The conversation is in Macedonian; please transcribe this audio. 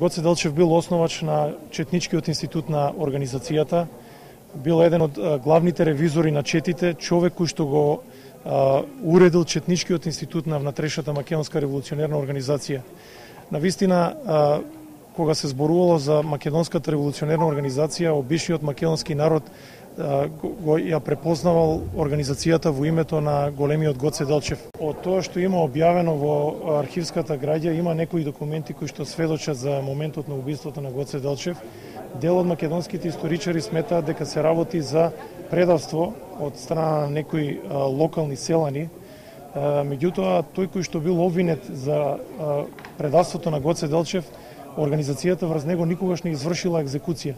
Гоце Делчев бил основач на Четничкиот институт на организацијата, бил еден од главните ревизори на четите, човек кој што го уредил Четничкиот институт на внатрешната македонска револуционерна организација. Навистина, кога се зборувало за македонската револуционерна организација, обичниот македонски народ го ја препознавал организацијата во името на големиот Гоце Делчев. Од тоа што има објавено во архивската граѓа, има некои документи кои што сведочат за моментот на убиството на Гоце Делчев. Дел од македонските историчари сметаат дека се работи за предавство од страна на некои локални селани. Меѓутоа, тој кој што бил обвинет за предавството на Гоце Делчев, организацијата врз него никогаш не извршила екзекуција.